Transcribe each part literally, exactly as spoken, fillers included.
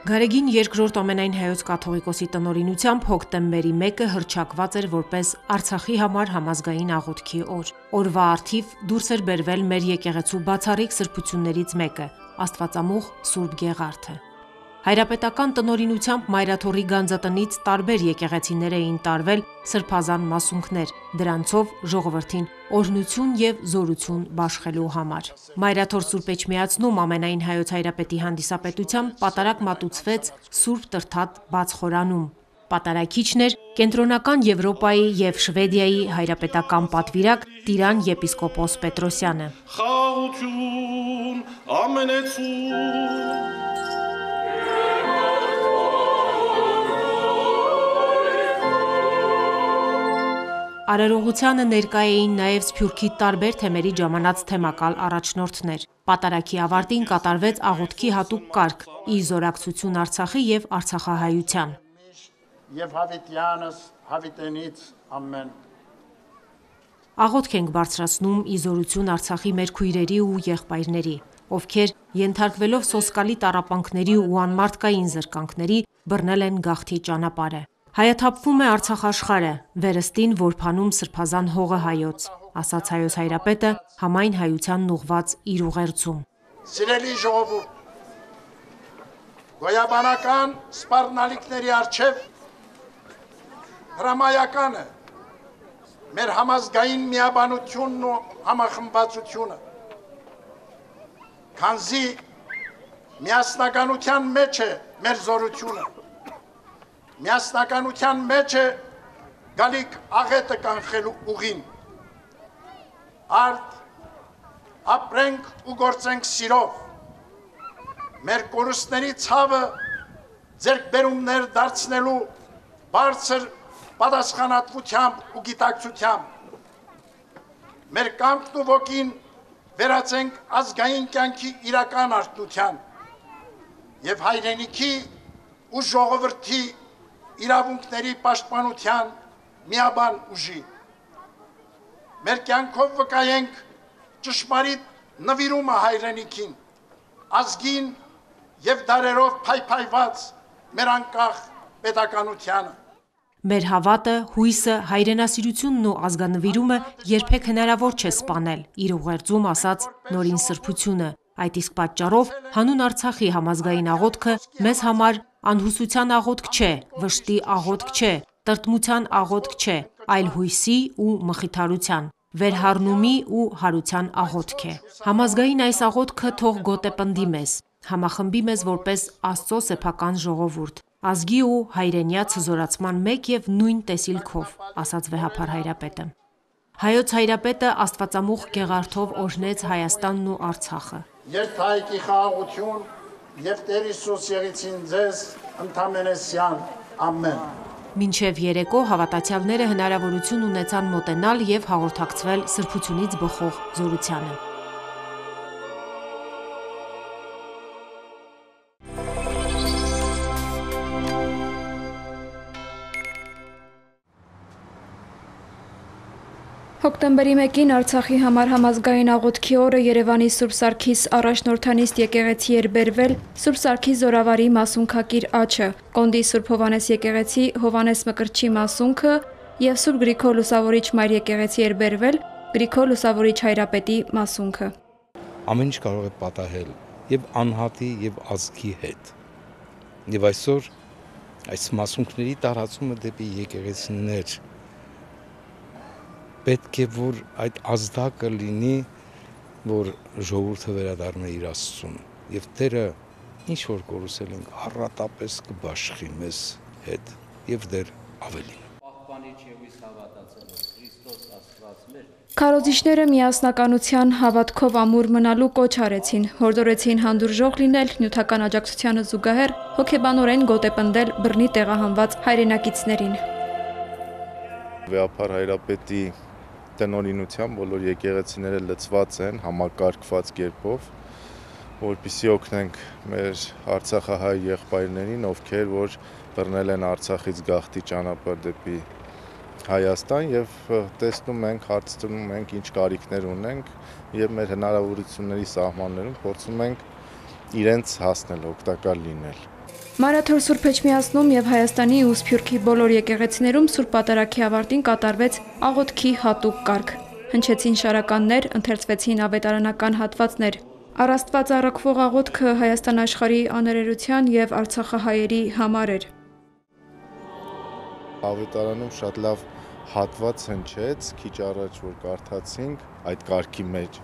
Գարեգին երկրորդ ամենայն հայոց կաթողիկոսի տնօրինությամբ հոկտեմբերի մեկը հռչակված էր որպես Արցախի համար համազգային աղոթքի օր։ Օրվա առթիվ դուրս էր բերվել մեր եկեղեցու բացառիկ սրբություններից մեկը՝ Աստվածամուխ Սուրբ Գեղարդը։ Հայրապետական տնօրինությամբ Մայրաթոռի գանձատնից տարբեր եկեղեցիներ էին տարվել սրբազան մասունքներ, դրանցով ժողովրդին օրհնություն և զորություն բաշխելու համար։ Մայրաթոր Սուրբ Էջմիածնում ամենայն հայոց հայրապետի հանդիսապետությամբ պատարագ մատուցվեց Սուրբ Տրդատ բաց խորանում։ Պատարագիչն էր Կենտրոնական Եվրոպայի և Շվեդիայի հայրապետական պատվիրակ տիրան եպիսկոպոս Պետրոսյանը։ Խաղաղություն ամենեցուն Արարողությանը ներկա էին նաև Սփյուռքի տարբեր թեմերի ժամանած թեմակալ առաջնորդներ։ Պատարագի ավարտին կատարվեց աղոթքի հատուկ կարգ՝ ի զորակցություն Արցախի և արցախահայության։ Եվ հավիտյանս հավիտենից ամեն։ Աղոթք ենք բարձրացնում ի զորություն Արցախի մեր քույրերի ու եղբայրների, ովքեր ենթարկվելով սոսկալի տառապանքների ու անմարդկային զրկանքների բռնել են գաղթի ճանապարհը։ Հայաթափվում է Արցախ աշխարհը, վերստին որբանում սրբազան հողը հայոց, ասաց հայոց հայրապետը համայն հայությանն ուղղված իր ուղերձում։ Սիրելի ժողովուրդ, գոյաբանական սպառնալիքների առջև հրամայական է մեր համազգային միաբանությունն ու համախմբվածությունը, քանզի միասնականության մեջ է մեր զորությունը, միասնականության մեջ է գալիք աղետը կանխելու ուղին, արդ ապրենք ու գործենք սիրով, մեր կորուստների ցավը ձեռքբերումներ դարձնելու բարձր պատասխանատվությամբ ու գիտակցությամբ, մեր կամքն ու ոգին վերածենք ազգային կյանքի իրական արդյունության և հայրենիքի ու ժողովրդի իրավունքների պաշտպանության միաբան ուժի։ Մեր կյանքով վկայենք ճշմարիտ նվիրումը հայրենիքին, ազգին և դարերով փայփայված մեր անկախ պետականությանը։ Մեր հավատը, հույսը, հայրենասիրությունն ու ազգանվիրումը երբեք հնարավոր չէ սպանել, իր ուղերձում ասաց Նորին Սրբությունը։ Այդ իսկ պատճառով հանուն Արցախի համազգային աղոթքը մեզ համար անհուսության աղոթք չէ, վշտի աղոթք չէ, տրտմության աղոթք չէ, այլ հույսի ու մխիթարության, վերհառնումի ու հարության աղոթք է։ Համազգային այս աղոթքը թող գոտեպնդի մեզ, համախմբի մեզ որպես Աստծո սեփական ժողովուրդ, ազգի ու հայրենյաց հզորացման մեկ և նույն տեսիլքով, ասաց վեհափառ հայրապետը։ Հայոց հայրապետը Աստվածամուխ Գեղարդով օրհնեց Հայաստանն ու Արցախը։ Երթայքի խաղաղություն և Տեր Հիսուս եղիցին ձեզ ընդամենեսյան, ամեն։ Մինչև երեկո հավատացյալները հնարավորություն ունեցան մոտենալ և հաղորդակցվել սրբությունից բխող զորությանը։ Հոկտեմբերի մեկին Արցախի համար համազգային աղոթքի օրը Երևանի Սուրբ Սարգիս առաջնորդանիստ եկեղեցի էր բերվել Սուրբ Սարգիս Զորավարի մասունքակիր աչը, Կոնդի Սուրբ Հովանես եկեղեցի Հովանես Մկրտչի մասունքը և Սուրբ Գրիգոր Լուսավորիչ մայր եկեղեցի էր բերվել Գրիգոր Լուսավորիչ հայրապետի մասունքը։ Ամեն ինչ կարող է պատահել եւ անհատի եւ ազգի հետ։ Եվ այսօր այս մասունքների տարածումը դեպի եկեղեցիներ պետք է որ այդ ազդակը լինի, որ ժողովուրդը վերադառնա իր Աստծուն եւ Տերը ինչ որ կորուսել ենք առատապես կբաշխի մեզ հետ եւ դեռ ավելին։ Քարոզիչները միասնականության հավատքով ամուր մնալու կոչ արեցին, հորդորեցին հանդուրժող լինել, նյութական աջակցությանը զուգահեռ հոգեբանորեն գոտեպնդել բռնի տեղահանված հայրենակիցներին։ Վեհափառ հայրապետի տնօրինությամբ բոլոր եկեղեցիները լցված են համակարգված կերպով, որպեսզի օգնենք մեր արցախահայ եղբայրներին, ովքեր որ բռնել են Արցախից գաղթի ճանապարհ դեպի Հայաստան եւ տեսնում ենք, հարցնում ենք, ինչ կարիքներ ունենք եւ մեր հնարավորությունների սահմաններում փորձում ենք իրենց հասնել, օգտակար լինել։ Մարաթոր Սուրբ Էջմիածնում եւ Հայաստանի ու Սփյուռքի բոլոր եկեղեցիներում Սուրբ Պատարագի ավարտին կատարվեց աղոթքի հատուկ կարգ։ Հնչեցին շարականներ, ընթերցվեցին ավետարանական հատվածներ։ Առ Աստված առաքվող աղոթքը Հայաստան աշխարհի աներերության եւ Արցախահայերի համար էր։ Ավետարանում շատ լավ հատված հնչեց, քիչ առաջ որ կարդացինք այդ կարգի մեջ։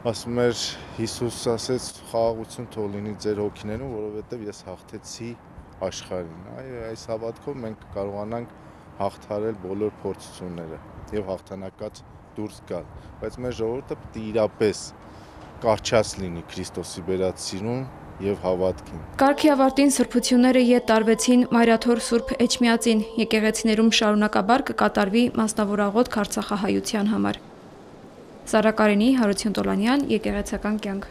Ասում էր Հիսուս ասեց խաղաղություն թող լինի ձեր հոգիներում, որովհետև ես հաղթեցի աշխարհին։ Այո, այս հավատքով մենք կարողանանք հաղթարել բոլոր փորձությունները եւ հաղթանակած դուրս գալ։ Բայց մեր ժողովուրդը պետք է իրապես կարճած լինի Քրիստոսի բերած սիրուն եւ հավատքին։ Կարգի ավարտին սրբությունները ետ տարվեցին Մայրաթոր Սուրբ Էջմիածին։ Եկեղեցիներում շարունակաբար կկատարվի մասնավոր աղոթք Արցախահայության համար։ Սարա Կարենի, Հարություն Տոլանյան, Եկեղեցական կյանք։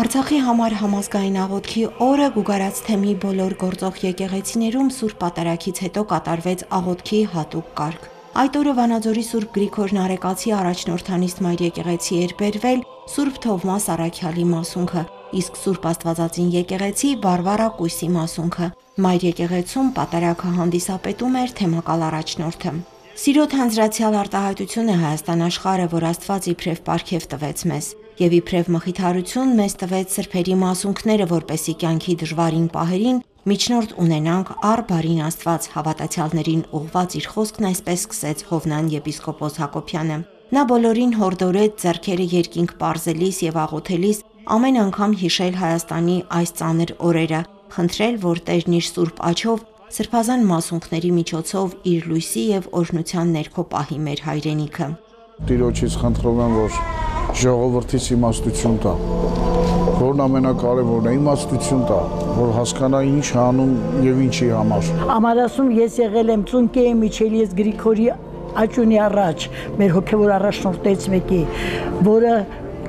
Արցախի համար համազգային աղոթքի օրը Գուգարաց թեմի բոլոր գործող եկեղեցիներում Սուրբ Պատարագից հետո կատարվեց աղոթքի հատուկ կարգ։ Այդ օրը Վանաձորի Սուրբ Գրիգոր Նարեկացի առաջնորդանիստ Մայր եկեղեցի էր բերվել Սուրբ Թովմաս Առաքյալի մասունքը, իսկ Սուրբ Աստվածածին եկեղեցի Վարվարա Կույսի մասունքը։ Մայր եկեղեցում պատարագը հանդիսապետում էր թեմակալ առաջնորդը։ Սիրո թանձրացյալ արտահայտություն է Հայաստան աշխարհը, որ Աստված իբրև պարգև տվեց մեզ, եւ իբրև մխիթարություն մեզ տվեց սրբերի մասունքները, որպեսի կյանքի դժվարին պահերին միջնորդ ունենանք առ բարին Աստված, հավատացյալներին ուղված իր խոսքն այսպես սկսեց Հովնան եպիսկոպոս Հակոբյանը։ Նա բոլորին հորդորեց ձեռքերը երկինք պարզելիս եւ աղոթելիս ամեն անգամ հիշել Հայաստանի այս ծանր օրերը, խնդրել, որ Տերն իր սուրբ աջով սրբազան մասունքների միջոցով իր լույսի եւ օրհնության ներքո պահի մեր հայրենիքը։ Տիրոջից խնդրում եմ, որ ժողովրդից իմաստություն տա, որն ամենակարևորն է, իմաստություն տա, որ հասկանա ինչ անում եւ ինչի համար։ Ամարասում ես եղել եմ ծունկի միջել ես Գրիգորի աճունի առաջ, մեր հոգեվոր առաջնորդից մեկի, որը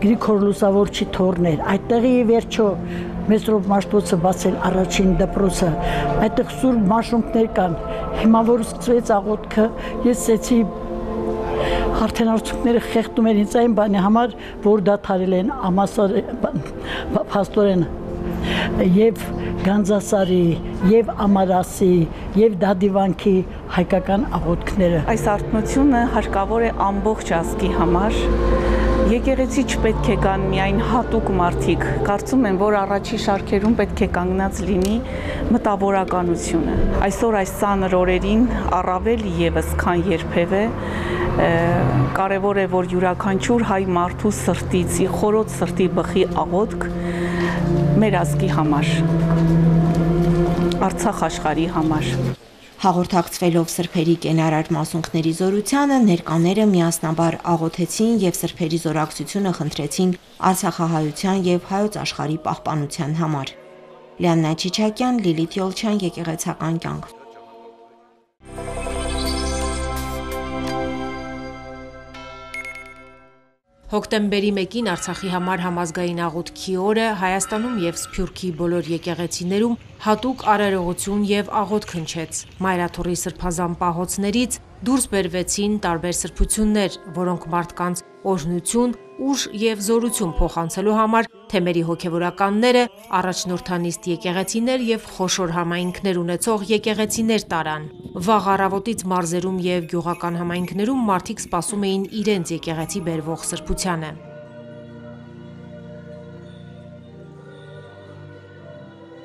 Գրիգոր Լուսավորչի թորն էր։ Այդտեղի վերջո Մեսրոպ Մաշտոցը բացել առաջին դպրոցը, այդտեղ սուրբ մաշունքներ կան։ Հիմա որ սկսվեց աղոթքը, ես ասեցի արդեն արցունքները խեղդում են ինձ այն բանի համար, որ դադարել են ամասար փաստորեն եւ Գանձասարի, եւ Ամարասի, եւ Դադիվանքի հայկական աղոթքները։ Այս արթնությունը հարկավոր է ամբողջ ազգի համար։ Եկեղեցի չպետք է կան միայն հատուկ մարդիկ, կարծում եմ, որ առաջի շարքերում պետք է կանգնած լինի մտավորականությունը։ Այսօր այս ծանր օրերին առավել եւս քան երբևէ կարևոր է, որ յուրաքանչյուր հայ մարդու սրտից, խորոց սրտի բխի աղոթք մեր ազգի համար, Արցախ աշխարհի համար։ Հաղորդակցվելով սրբերի կենարար մասունքների զորությանը, ներկաները միասնաբար աղոթեցին եւ սրբերի զորակցությունը խնդրեցին Արցախահայության եւ հայոց աշխարհի պահպանության համար։ Լիաննա Չիչակյան, Լիլիթ Յոլչյան, Եկեղեցական կյանք։ Հոկտեմբերի մեկին Արցախի համար համազգային աղոթքի օրը Հայաստանում եւ Սփյուռքի բոլոր եկեղեցիներում հատուկ արարողություն եւ աղոթք հնչեց։ Մայրաթորի սրբազան պահոցներից դուրս բերվեցին տարբեր սրբություններ, որոնք մարդկանց օրհնություն, ուժ եւ զորություն փոխանցելու համար թեմերի հոգեվորականները, առաջնորդանիստ եկեղեցիներ եւ խոշոր համայնքներ ունեցող եկեղեցիներ տարան։ Վաղ առավոտից մարզերում եւ գյուղական համայնքներում մարդիկ սպասում էին իրենց եկեղեցի բերվող սրբությանը։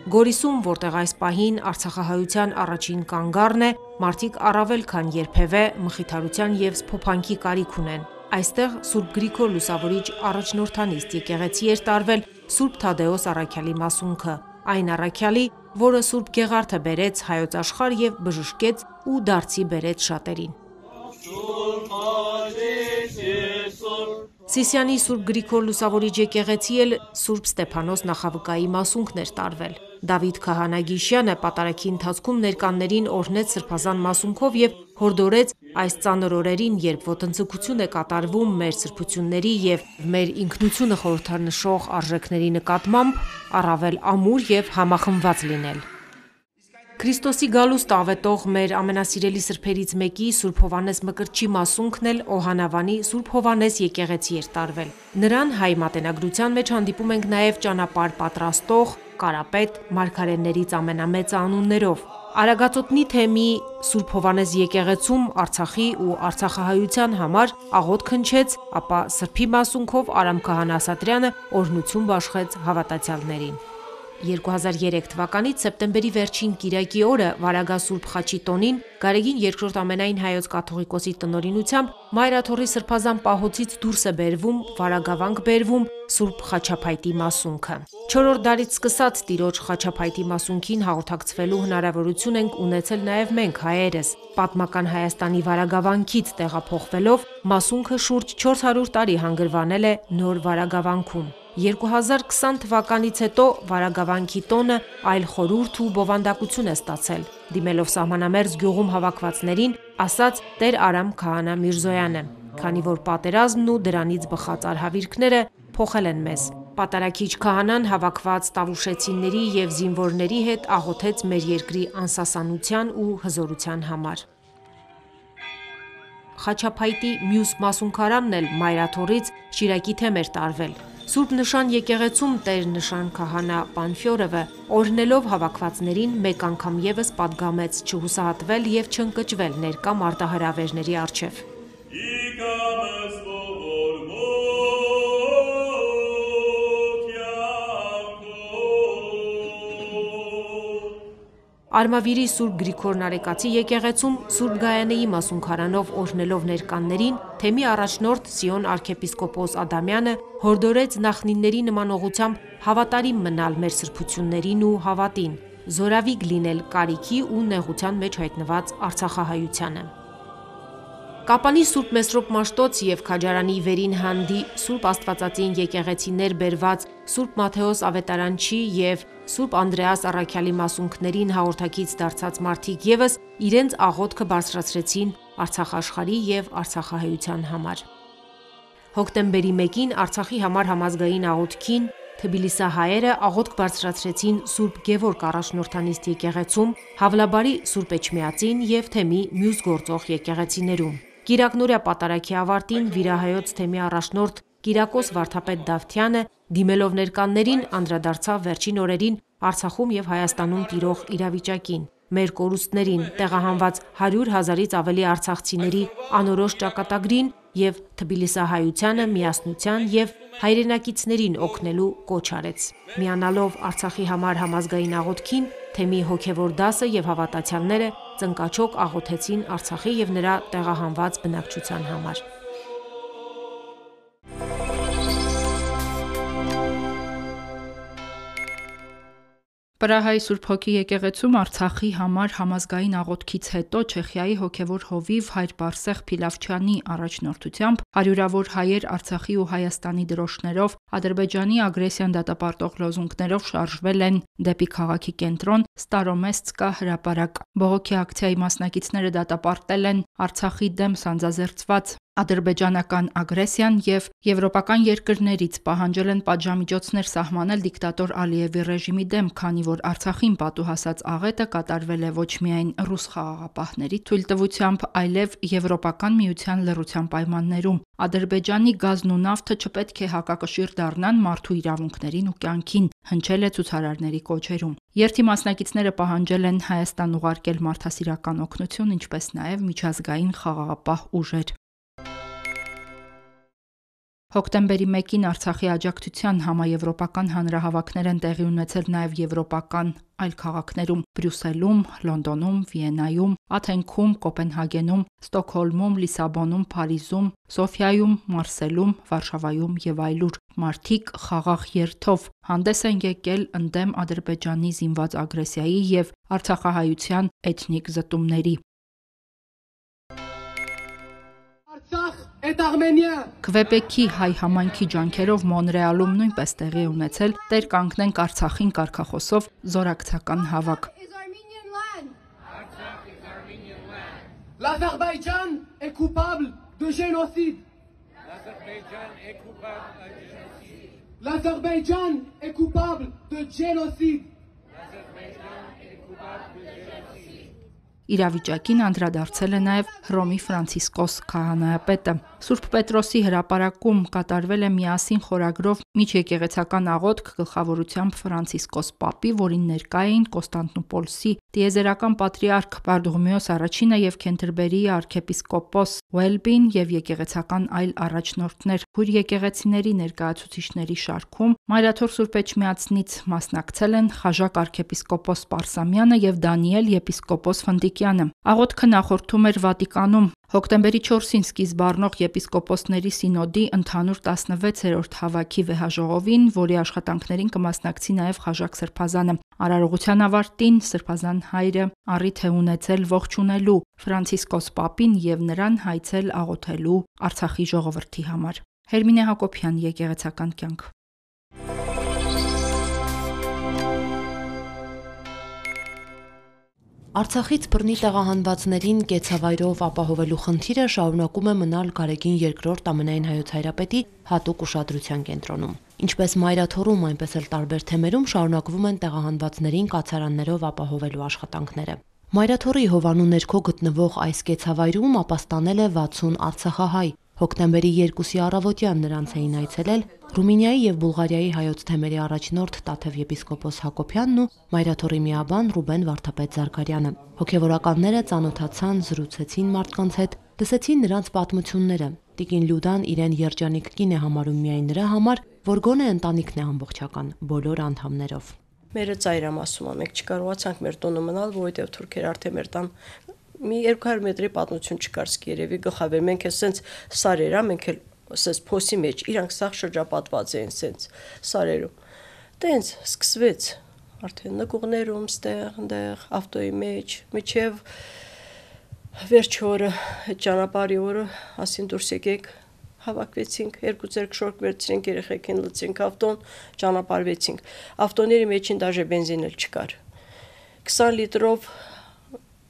Գորիսում, որտեղ այս պահին Արցախահայության առաջին կանգառն է, մարդիկ առավել քան երբևէ մխիթարության եւ սփոփանքի կարիք ունեն։ Այստեղ Սուրբ Գրիգոր Լուսավորիչ առաջնորդանիստ եկեղեցի էր տարվել Սուրբ Թադեոս Առաքյալի մասունքը, այն առաքյալի, որը Սուրբ Գեղարդը բերեց հայոց աշխարհ եւ բժշկեց ու դարձի բերեց շատերին։ Սիսիանի Սուրբ Գրիգոր Լուսավորիչ եկեղեցի էլ Սուրբ Ստեփանոս նախավկայի մասունքն էր տարվել։ Դավիթ Քահանա Գիշյանը պատարագի ընթացքում ներկաններին օրհնեց սրբազան մասունքով եւ հորդորեց այս ծանր օրերին, երբ ոտնձգություն է կատարվում մեր սրբությունների եւ մեր ինքնությունը խորհրդանշող արժեքների նկատմամբ, առավել ամուր եւ համախմբված լինել։ Քրիստոսի գալուստ ավետող մեր ամենասիրելի սրբերից մեկի Սուրբ Հովհաննես Մկրտչի մասունքն էլ Օհանավանի Սուրբ Հովհաննես եկեղեցի էր տարվել։ Նրան հայ մատենագրության մեջ հանդիպում ենք նաև ճանապարհ պատրաստող, կարապետ, մարգարեներից ամենամեծը անուններով։ Արագածոտնի թեմի Սուրբ Հովհաննես եկեղեցում Արցախի ու արցախահայության համար աղոթք հնչեց, ապա սրբի մասունքով Արամ քահանա Ասատրյանը օրհնություն բաշխեց հավատացյալներին։ երկու հազար երեք թվականի սեպտեմբերի վերջին կիրակի օրը Վարագա Սուրբ Խաչի տոնին Գարեգին երկրորդ ամենայն հայոց կաթողիկոսի տնօրինությամբ Մայրաթոռի սրբազան պահոցից դուրս է բերվում, վարագավանք բերվում Սուրբ Խաչափայտի մասունքը։ Չորրորդ դարից սկսած Տիրոջ Խաչափայտի մասունքին հաղորդակցվելու հնարավորություն ենք ունեցել նաև մենք հայերս։ Պատմական Հայաստանի վարագավանքից տեղափոխվելով մասունքը շուրջ չորս հարյուր տարի հանգրվանել է նոր վարագավանքում։ երկու հազար քսան թվականից հետո վարագավանքի տոնը այլ խորհուրդ ու բովանդակություն է ստացել, դիմելով սահմանամերձ գյուղում հավաքվածներին, ասաց Տեր Արամ քահանա Միրզոյանը, քանի որ պատերազմն ու դրանից բխած արհավիրքները փոխել են մեզ։ Պատարագիչ քահանան հավաքված տավուշեցիների եւ զինվորների հետ աղոթեց մեր երկրի անսասանության ու հզորության համար։ Խաչափայտի մյուս մասունքարանն էլ Մայրաթոռից Շիրակի թեմ էր տարվել։ Սուրբ Նշան եկեղեցում Տեր Նշան քահանա Պանֆյորովը օրհնելով հավաքվածներին մեկ անգամ եւս պատգամեց չհուսահատվել եւ չընկճվել ներկա մարտահրավերների առջեւ։ Արմավիրի Սուրբ Գրիգոր Նարեկացի եկեղեցում Սուրբ Գայանեի մասունքարանով օրհնելով ներկաներին թեմի առաջնորդ Սիոն arczepiskopos Ադամյանը հորդորեց նախնիների նմանողությամբ հավատարիմ մնալ մեր սրբություններին ու հավատին, զորավիգ լինել կարիքի ու նեղության մեջ հայտնված արցախահայությանը։ Կապանի Սուրբ Մեսրոպ Մաշտոց և Քաջարանի Վերին Հանդի Սուրբ Աստվածածին եկեղեցիներ բերված Սուրբ Մաթեոս Ավետարանչի և Սուրբ Անդրեաս Առաքյալի մասունքներին հաղորդակից դարձած մարդիկ ևս իրենց աղոթքը բարձրացրեցին Արցախաշխարհի և արցախահայության համար։ Հոկտեմբերի մեկին Արցախի համար համազգային աղոթքին թբիլիսահայերը աղոթք բարձրացրեցին Սուրբ Գևորգ առաջնորդանիստ եկեղեցում, Հավլաբարի Սուրբ Էջմիածին և թեմի մյուս գործող եկեղեցիներում։ Կիրակնօրյա պատարագի ավարտին վիրահայոց թեմի առաջնորդ Կիրակոս Վարդապետ Դավթյանը դիմելով ներկաններին անդրադարձավ վերջին օրերին Արցախում և Հայաստանում տիրող իրավիճակին, մեր կորուստներին, տեղահանված հարյուր հազարից ավելի արցախցիների անորոշ ճակատագրին և թբիլիսահայությանը միասնության և հայրենակիցներին օգնելու կոչ արեց։ Միանալով Արցախի համար համազգային աղոթքին, թեմի հոգևոր դասը և հավատացյալները ծնկաչոք աղոթեցին Արցախի և նրա տեղահանված բնակչության համար։ Պրահայի Սուրբ Հոգի եկեղեցում Արցախի համար համազգային աղոթքից հետո Չեխիայի հոգևոր հովիվ հայր Բարսեղ Փիլավչյանի առաջնորդությամբ հարյուրավոր հայեր Արցախի ու Հայաստանի դրոշներով Ադրբեջանի ագրեսիան դատապարտող լոզունգներով շարժվել են դեպի քաղաքի կենտրոն Ստարոմեսցկա հրապարակ։ Բողոքի ակցիայի մասնակիցները դատապարտել են Արցախի դեմ սանձազերծված ադրբեջանական ագրեսիան և եվրոպական երկրներից պահանջել են պատժամիջոցներ սահմանել դիկտատոր Ալիևի ռեժիմի դեմ, քանի որ Արցախին պատուհասած աղետը կատարվել է ոչ միայն ռուս խաղաղապահների թույլտվությամբ, այլև Եվրոպական միության լռության պայմաններում։ Ադրբեջանի գազն ու նավթը չպետք է հակակշիռ դառնան մարդու իրավունքներին ու կյանքին, հնչել է ցուցարարների կոչերում։ Երթի մասնակիցները պահանջել են Հայաստան ուղարկել մարդասիրական օգնություն, ինչպես նաև միջազգային խաղաղապահ ուժեր։ Հոկտեմբերի մեկին Արցախի աջակցության համաեվրոպական հանրահավաքներ են տեղի ունեցել նաև եվրոպական այլ քաղաքներում՝ Բրյուսելում, Լոնդոնում, Վիեննայում, Աթենքում, Կոպենհագենում, Ստոկհոլմում, Լիսաբոնում, Փարիզում, Սոֆիայում, Մարսելում, Վարշավայում և այլուր։ Մարդիկ խաղաղ երթով հանդես են եկել ընդդեմ Ադրբեջանի զինված ագրեսիայի և արցախահայության էթնիկ զտումների։ Քվեբեքի հայ համայնքի ջանքերով Մոնրեալում նույնպես տեղի է ունեցել «Տեր կանգնենք Արցախին» կարգախոսով զորակցական հավաք։ L'Azerbaïdjan est coupable de génocide. L'Azerbaïdjan est coupable de génocide. Իրավիճակին անդրադարձել է նաև Հռոմի Ֆրանցիսկոս քահանայապետը։ Սուրբ Պետրոսի հրապարակում կատարվել է միասին խորագրով միջեկեղեցական աղոթք գլխավորությամբ Ֆրանցիսկոս Պապի, որին ներկա էին Կոստանդնուպոլսի տիեզերական պատրիարք Բարդուղիմեոս առաջինը եւ Քենթերբերիի arczepiskopos Ուելբին եւ եկեղեցական այլ առաջնորդներ։ Հույր եկեղեցիների ներկայացուցիչների շարքում Մայրաթոր Սուրբ Էջմիածնից մասնակցել են Խաժակ arczepiskopos Պարսամյանը եւ Դանիել եպիսկոպոս Ֆնդիկյանը։ Աղոթքը նախորդում էր Վատիկանում։ Հոկտեմբերի չորսին սկիզբ առնող եպիսկոպոսների սինոդի ընդհանուր տասնվեցերորդ հավաքի վեհաժողովին, որի աշխատանքներին կմասնակցի նաև Խաժակ Սրբազանը։ Արարողության ավարտին Սրբազան հայրը առիթ է ունեցել ողջունելու Ֆրանցիսկոս Պապին եւ նրան հայցել աղոթելու Արցախի ժողովրդի համար։ Հերմինե Հակոբյան, Եկեղեցական կյանք։ Արցախից բռնի տեղահանվածներին կեցավայրով ապահովելու խնդիրը շարունակում է մնալ Գարեգին երկրորդ ամենայն հայոց հայրապետի հատուկ ուշադրության կենտրոնում։ Ինչպես Մայրաթորում, այնպես էլ տարբեր թեմերում շարունակվում են տեղահանվածներին կացարաններով ապահովելու աշխատանքները։ Մայրաթորի Հովանու ներքո գտնվող այս կեցավայրում ապաստանել է վաթսուն արցախահայ։ Հոկտեմբերի երկուսի առավոտյան նրանց էին այցելել Ռումինիայի եւ Բուլղարիայի հայոց թեմերի առաջնորդ Տաթև եպիսկոպոս Հակոբյանն ու Մայրաթորի միաբան Ռուբեն Վարդապետ Զարգարյանը։ Հոգևորականները ծանոթացան, զրուցեցին մարդկանց հետ, լսեցին նրանց պատմությունները։ Տիկին Լյուդան իրեն երջանիկ կին է համարում միայն նրա համար, որ գոնե ընտանիքն է ամբողջական, բոլոր անդամներով։ Մերը ծայրամ ասում, մենք չկարողացանք մեր տունը մնալ, որովհետև թուրքերը արդեն մեր տան մի երկու հարյուր մետրի պատմություն չկար, սկի երևի գլխավեր, մենք էլ սենց սարերա, մենք էլ սենց փոսի մեջ, իրանք սաղ շրջապատված էին սենց սարերում։ Տենց սկսվեց, արդեն նկուղներում, ստեղ, ընդեղ, ավտոյի մեջ, միջև վերջ օրը, այդ ճանապարհի օրը, ասին դուրս եկեք, հավաքվեցինք, երկու ձեռք շորք վերցրինք, երեխեքին լցրինք ավտոն, ճանապարհվեցինք։ Ավտոների մեջին դաժե բենզին էլ չկար։ քսան լիտրով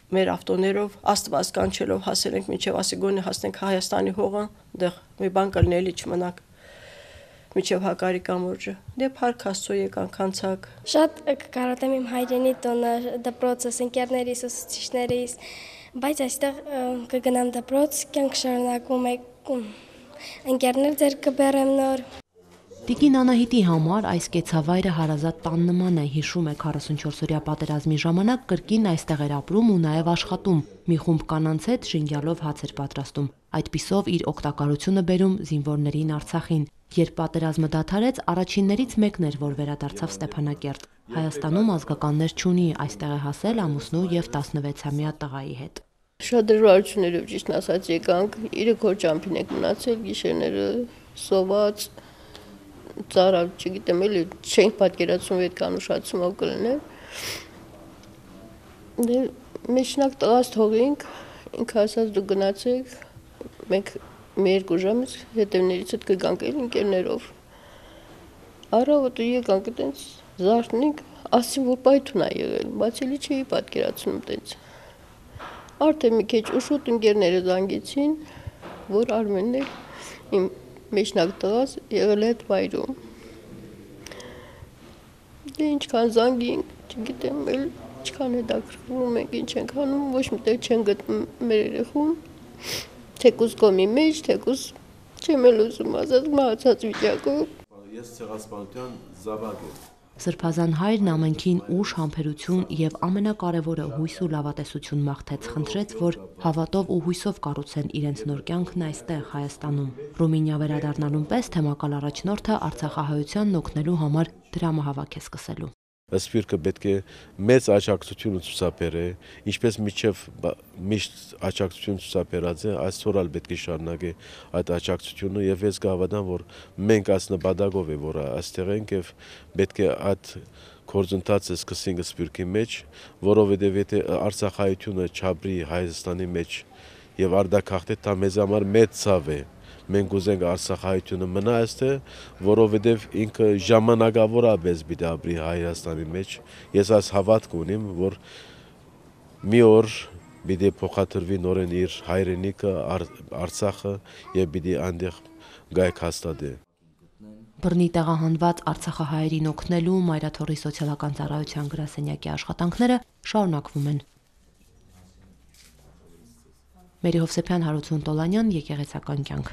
մեր ավտոներով աստված կանչելով հասել ենք մինչև ասիգոնի հասնենք Հայաստանի հողը, դեղ մի բան կլինելի չմնանք մինչև Հակարի կամուրջը։ Դե փառք Աստծո եկանք անցակ։ Շատ կկարոտեմ իմ հայրենի տոնը, դպրոցս, ընկերներիս, ուսուցիչներիս, բայց այստեղ կգնամ դպրոց, կյանք շարունակվում է, ընկերներ ձեր կբերեմ նոր։ Տիկին Անահիտի համար այս կեցավայրը հարազատ տան նման է, հիշում է քառասունչորսօրյա պատերազմի ժամանակ կրկին այստեղ էր ապրում ու նաև աշխատում, մի խումբ կանանց հետ շինգյալով հաց էր պատրաստում, այդպիսով իր օգտակարությունը բերում զինվորներին Արցախին։ Երբ պատերազմը դադարեց, առաջիններից մեկն էր, որ վերադարձավ Ստեփանակերտ։ Հայաստանում ազգականներ չունի, այստեղ է հասել ամուսնու եւ տասնվեցամյա տղայի հետ։ Շատ դժվարություններով ճիշտ ասած եկանք, իրեք օր ճամփին եք մնացել, գիշերները սոված ծարավ, չգիտեմ, էլի չենք պատկերացնում այդ կանուշացումով կլիներ։ Դե մեջնակ տղաս թողինք, ինքը ասաց դու գնացեք, մենք մի երկու ժամից հետևներից հետ կգանք էլ ընկերներով։ Առավոտը եկանք այդպես զարթնենք, ասին որ պայթուն է եղել, բայց էլի չէի պատկերացնում այդպես։ Արդեն մի քիչ ուշուտ ընկերները զանգեցին, որ Արմենն էլ իմ մեջնակ տղաս եղել է այդ վայրում։ Դե ինչքան զանգինք, չգիտեմ, էլ ինչքան հետաքրքրվում ենք, ինչ ենք անում, ոչ մի տեղ չեն գտնում մեր երեխուն, թեկուզ կոմի մեջ, թեկուզ չեմ էլ ուզում ասած մահացած վիճակով։ Ես ցեղասպանության զավակ եմ։ Սրբազան հայրն ամենքին ուժ, համբերություն եւ ամենակարևորը հույս ու լավատեսություն մաղթեց, խնդրեց, որ հավատով ու հույսով կառուցեն իրենց նոր կյանքն այստեղ Հայաստանում։ Ռումինիա վերադառնալուն պես թեմակալ առաջնորդը արցախահայությանն օգնելու համար դրամահավաք է սկսելու։ Սպիրկը պետք է մեծ աջակցություն ցուցաբերե, ինչպես միջև միշտ աջակցություն ցուցաբերած է, այսօր էլ պետք է շարունակե այդ աջակցությունը եւ ես կհավատամ, որ մենք այս նպատակով է, որ այստեղ ենք եւ պետք է այդ գործընթացը սկսենք Սպիրկի մեջ, որովհետեւ եթե Արցախայությունը չաբրի Հայաստանի մեջ եւ արդակախտե դա մեզ համար մեծ ցավ է։ Մենք ուզենք Արցախայությունը մնա այստեղ, որովհետև ինքը ժամանակավոր աբես պիտի ապրի Հայաստանի մեջ։ Ես այս հավատք ունեմ, որ մի օր պիտի փոխադրվի նորեն իր հայրենիքը Արցախը եւ պիտի այնտեղ գայք հաստատի։ Բռնի տեղահանված արցախահայերին օգնելու Մայրաթորի սոցիալական ծառայության գրասենյակի աշխատանքները շարունակվում են։ Մերի Հովսեփյան, Հարություն Տոլանյան, Եկեղեցական կյանք։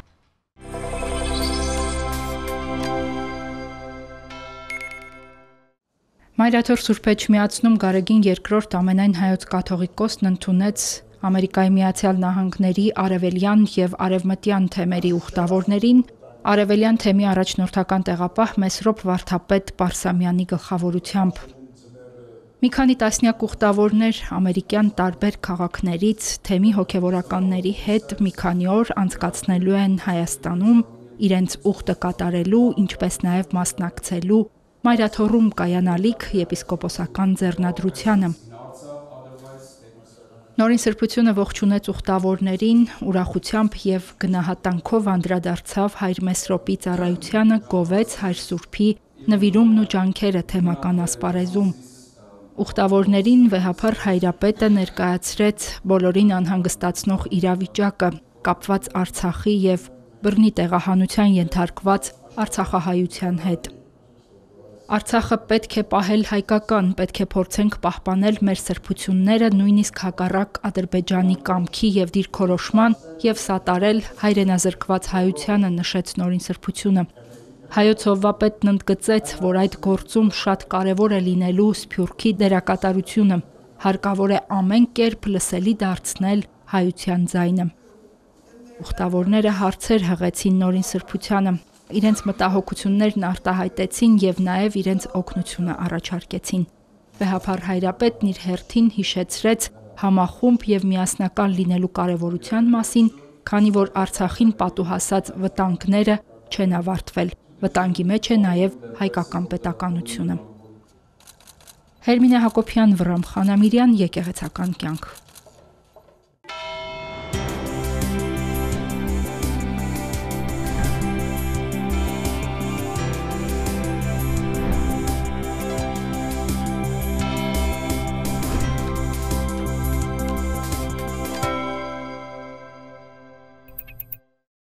Մայրաթոր Սուրբ Էջմիածնում Գարեգին երկրորդ ամենայն հայոց կաթողիկոսն ընդունեց Ամերիկայի Միացյալ Նահանգների արևելյան եւ արևմտյան թեմերի ուխտավորներին արևելյան թեմի առաջնորդական տեղապահ Մեսրոպ Վարդապետ Պարսամյանի գլխավորությամբ։ Մի քանի տասնյակ ուխտավորներ ամերիկյան տարբեր քաղաքներից թեմի հոգևորականների հետ մի քանի օր անցկացնելու են Հայաստանում, իրենց ուխտը կատարելու, ինչպես նաև մասնակցելու Մայրաթորում կայանալիք եպիսկոպոսական ձեռնադրությանը։ Նորին սրբությունը ողջունեց ուխտավորներին, ուրախությամբ եւ գնահատանքով անդրադարձավ հայր Մեսրոպի ծառայությանը, գովեց հայր Սուրբի նվիրումն ու ջանքերը թեմական ասպարեզում։ Ուխտավորներին վեհափառ հայրապետը ներկայացրեց բոլորին անհանգստացնող իրավիճակը, կապված Արցախի եւ բռնի տեղահանության ենթարկված արցախահայության հետ։ Արցախը պետք է պահել հայկական, պետք է փորձենք պահպանել մեր սրբությունները նույնիսկ հակառակ Ադրբեջանի կամքի եւ դիրքորոշման եւ սատարել հայրենազրկված հայությանը, նշեց նորին սրբությունը։ Հայոց հովվապետն ընդգծեց, որ այդ գործում շատ կարևոր է լինելու Սփյուռքի դերակատարությունը, հարկավոր է ամեն կերպ լսելի դարձնել հայության ձայնը։ Ուխտավորները հարցեր հղեցին նորին սրբությանը, իրենց մտահոգություններն արտահայտեցին եւ նաեւ իրենց օգնությունը առաջարկեցին։ Վեհափառ հայրապետն իր հերթին հիշեցրեց համախումբ եւ միասնական լինելու կարեւորության մասին, քանի որ Արցախին պատուհասած վտանգները չեն ավարտվել։ Վտանգի մեջ է նաեւ հայկական պետականությունը։ Հերմինե Հակոբյան, Վռամ Խանամիրյան, Եկեղեցական կյանք։